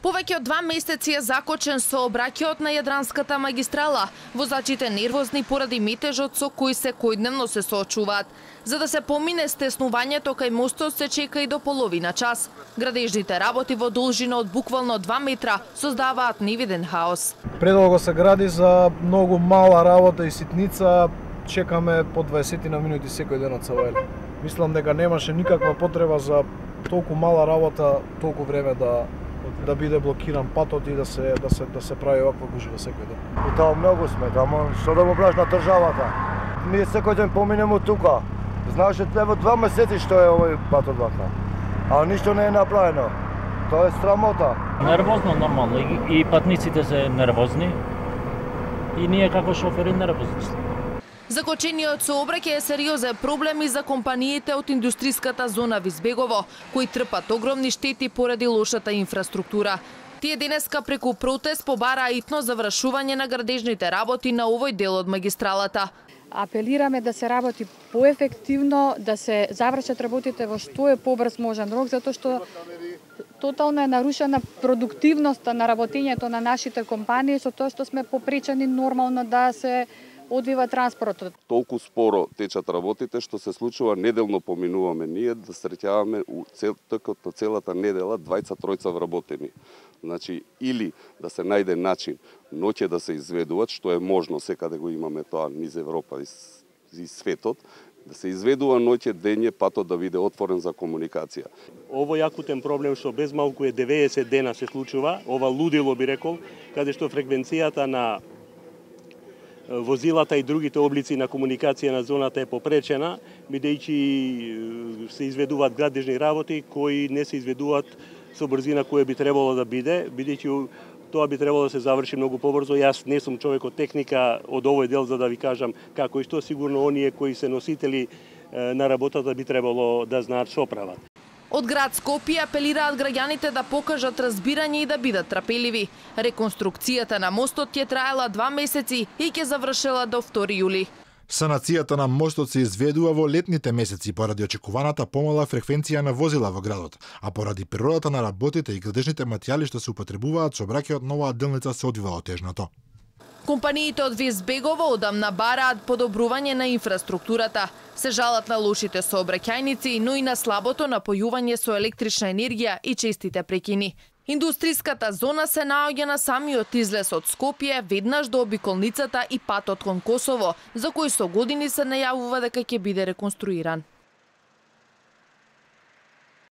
Повеќе од 2 месеци е закочен сообраќајот на Јадранската магистрала. Возачите нервозни поради метежот со кој секојдневно се соочуваат. За да се помине стеснувањето кај мостот се чека и до половина час. Градежните работи во должина од буквално 2 метра создаваат невиден хаос. Предолго се гради за многу мала работа и ситница. Чекаме по 20 на минути секој ден од Савајле. Мислам дека немаше никаква потреба за толку мала работа, толку време да биде блокиран патот и да се прави оваква гужва секој ден. И тоа многу сме, ама што да го браш на државата? Ние секој ден поминеме тука. Знаеше во 2 месеци што е овој патот вака. А ништо не е направено. Тоа е срамота. Нервозно нормално и патниците се нервозни и ние како шофери нервозни сме. Закочениот сообраќај е сериозен проблем и за компаниите од индустријската зона Визбегово, кои трпат огромни штети поради лошата инфраструктура. Тие денеска преку протест побараа итно завршување на градежните работи на овој дел од магистралата. Апелираме да се работи поефективно, да се завршат работите во што е побрз можен рок, затоа што тотално е нарушена продуктивноста на работењето на нашите компании, со тоа што сме попречени нормално да се одвива транспортот. Толку споро течат работите што се случува неделно поминуваме ние да среќаваме токот на целата недела 20-тројца вработени. Значи или да се најде начин ноќе да се изведуваат, што е можно, секаде го имаме тоа низ Европа и светот, да се изведува ноќе дење патот да биде отворен за комуникација. Овој акутен проблем што без малку е 90 дена се случува, ова лудило би рекол, каде што фреквенцијата на возилата и другите облици на комуникација на зоната е попречена, бидејќи се изведуваат градежни работи кои не се изведуваат со брзина која би требало да биде, бидејќи тоа би требало да се заврши многу побрзо. Јас не сум човек од техника од овој дел за да ви кажам како и што, сигурно оние кои се носители на работата би требало да знаат што прават. Од град Скопје апелираат граѓаните да покажат разбирање и да бидат трпеливи. Реконструкцијата на мостот ќе траела 2 месеци и ќе завршела до 2 јули. Санацијата на мостот се изведува во летните месеци поради очекуваната помала фреквенција на возила во градот, а поради природата на работите и градежните материјали што се употребуваат, сообраќајот на оваа делница се одвива отежнато. Компаниите од Визбегово одамна бараат подобрување на инфраструктурата. Се жалат на лошите сообраќајници, но и на слабото напојување со електрична енергија и честите прекини. Индустријската зона се наоѓа на самиот излез од Скопје, веднаш до обиколницата и патот кон Косово, за кој со години се најавува дека ќе биде реконструиран.